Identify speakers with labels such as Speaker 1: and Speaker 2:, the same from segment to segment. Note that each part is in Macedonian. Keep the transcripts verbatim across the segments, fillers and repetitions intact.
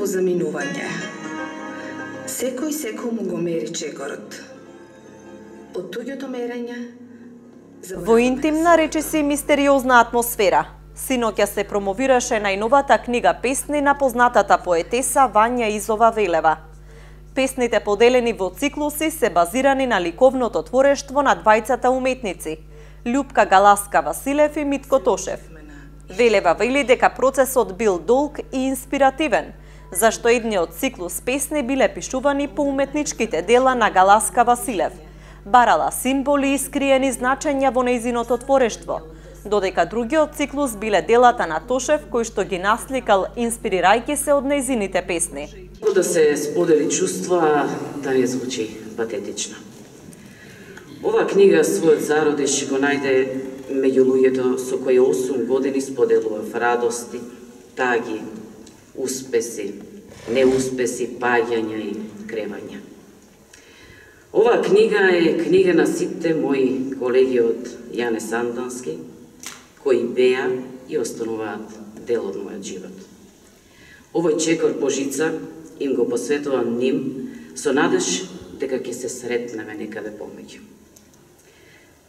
Speaker 1: во заминување. Секој секому го мери чекорот. Од туѓото мерење...
Speaker 2: Во интимна, речиси мистериозна атмосфера, синоќа се промовираше најновата книга песни на познатата поетеса Вања Изова Велева. Песните поделени во циклуси се базирани на ликовното творештво на двајцата уметници – Љупка Галаска Василев и Митко Тошев. Велева вели дека процесот бил долг и инспиративен, зашто едниот циклус песни биле пишувани по уметничките дела на Галаска Василев. Барала символи и скриени значења во нејзиното творештво, додека другиот циклус биле делата на Тошев, кој што ги насликал инспирирајќи се од нејзините песни.
Speaker 3: Да се сподели чувства, да не звучи патетично. Ова книга својот зародиш го најде меѓу луѓето со кои осум години споделував радости, таги, успеси, неуспеси, паѓања и кревања. Ова книга е книга на сите мои колеги од Јане Сандански, кои беа и остануваат дел од мојот живот. Овој чекор по жица им го посветувам ним со надеж дека ќе се сретнеме некаде помеѓу.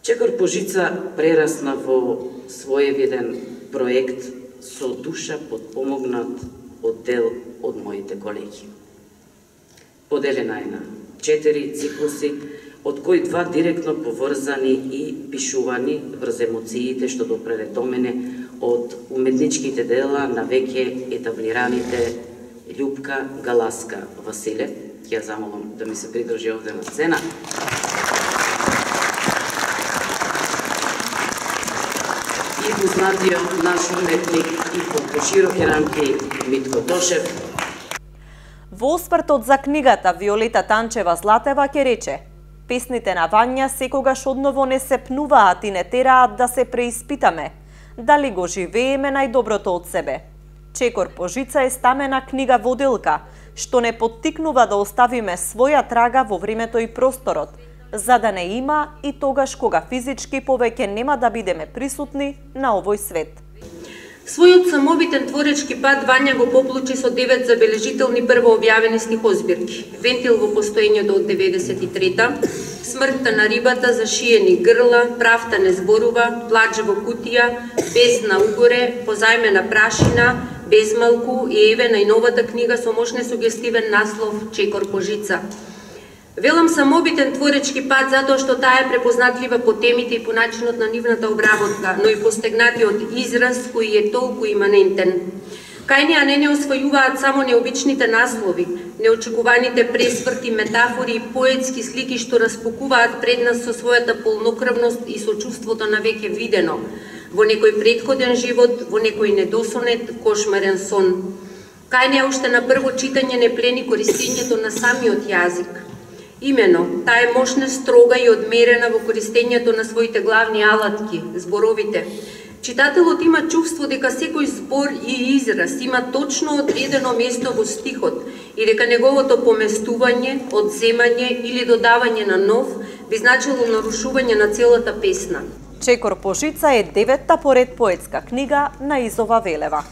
Speaker 3: Чекор по жица прерасна во своевиден проект со душа подпомогнат од дел од моите колеги. Поделена е на четири циклуси, од кои два директно поврзани и пишувани врз емоциите што допреле до мене од уметничките дела на веќе етаблираните Љупка Галаска Василев. Ќе замолам да ми се придружи овде на сцена. И познатиот наш уметник и по пошироки рамки Митко Тошев.
Speaker 2: Во освртот за книгата Виолета Танчева Златева ќе рече: песните на Вања секогаш одново не се пнуваат и не тераат да се преиспитаме, дали го живееме најдоброто од себе. Чекор по жица е стамена книга воделка, што не поттикнува да оставиме своја трага во времето и просторот, за да не има и тогаш кога физички повеќе нема да бидеме присутни на овој свет.
Speaker 4: Својот самобитен творечки пат Вања го поплучи со девет забележителни првообјавени стихозбирки: Вентил во постоењето од деветдесет и трета, Смртта на рибата, Зашиени грла, Правта не зборува, Плач во кутија, Бездна угоре, Позајмена прашина, Безмалку и еве најновата книга со мощне сугестивен наслов Чекор по жица. Велам самобитен творечки пат затоа што таа е препознатлива по темите и по начинот на нивната обработка, но и по стегнатиот израз кој е толку иманентен. Кај неа не не освојуваат само необичните наслови, неочекуваните пресврти, метафори и поетски слики што распукуваат пред нас со својата полнокрвност и со чувството на веќе видено, во некој претходен живот, во некој недосонет, кошмарен сон. Кај неа уште на прво читање не плени користењето на самиот јазик. Имено, таа е мощна, строга и одмерена во користењето на своите главни алатки, зборовите. Читателот има чувство дека секој збор и израз има точно одредено место во стихот и дека неговото поместување, одземање или додавање на нов би значило нарушување на целата песна.
Speaker 2: Чекор по жица е деветта поред поетска книга на Изова Велева.